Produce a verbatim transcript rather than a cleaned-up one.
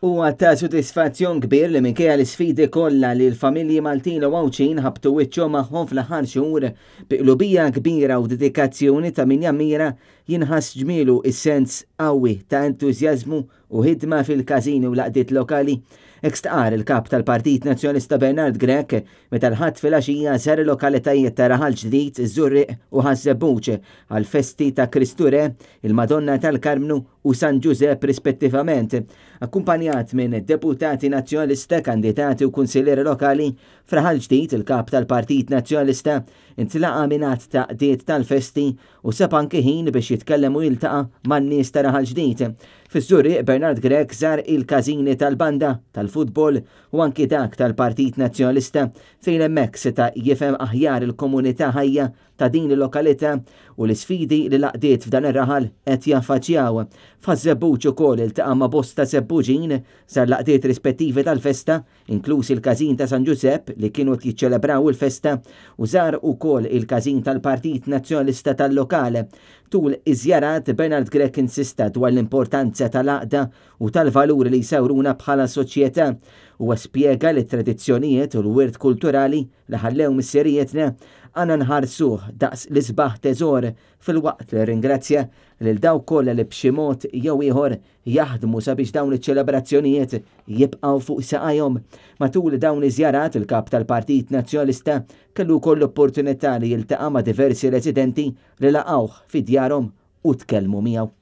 Huwa ta' sodisfazzjon kbir li minkejja l-isfidi kollha li l-familji Maltin u Għawdxin ħabtu wiċċhom magħhom fl-aħħar xhur, bi qlubija kbira u dedikazzjoni ta' min jammira jinħass ġmielu is-sens qawwi ta' entużjażmu u ħidma fil-każini u l-għaqdiet lokali. Hekk stqarr il-kap tal-Partit Nazzjonalista Bernard Grech meta l-Ħadd filgħaxija żar il-lokalitajiet ta' Raħal Ġdid, Żurrieq u Ħaż-Żebbuġ għall-festi ta' Kristu Re, il-Madonna tal-Karmnu u San Ġużepp rispettivament. Akkumpanjat minn deputati nazzjonalista, kandidati u kunsillieri lokali, f'Raħal Ġdid il-kap tal-Partit Nazzjonalista intlaqa' minn għadd ta' għaqdiet tal-festi u sab anki ħin biex jitkellem u jiltaqa' man-nies ta' Raħal Ġdid. Fiż-Żurrieq Bernard Grech żar il-każini tal-banda, tal-futbol u anki dak tal-Partit Nazzjonalista fejn hemmhekk seta' jifhem aħjar il-komunità ħajja ta' din il-lokalità u l-isfidi li l-għaqdiet f'dan ir-raħal qed jaffaċċjaw. F'Ħaż-Żebbuġ ukoll iltaqa' ma' bosta Żebbuġin, żar l-għaqdiet rispettivi tal-festa, inkluż il-każin ta' San Ġużepp li kienu qed jiċċelebraw il-festa u żar ukoll il-każin tal-Partit Nazzjonalista tal-lokal. Tul iż-żjarat Bernard Grech insista dwar l-importanza tal-għaqda u tal-valuri li jsawruna bħala soċjetà. Huwa spjega li t-tradizzjonijiet u l-wirt kulturali li ħallew missirijietna għandna nħarsuh daqs l-isbaħ teżor, filwaqt li ringrazzja lil dawk kollha li b'xi mod jew ieħor jaħdmu sabiex dawn iċ-ċelebrazzjonijiet jibqgħu fuq saqajhom. Matul dawn iż-żjarat il-kap tal-Partit Nazzjonalista kellu wkoll l-opportunità li jiltaqa' ma' diversi residenti li laqgħuh fi djarhom u tkellmu miegħu.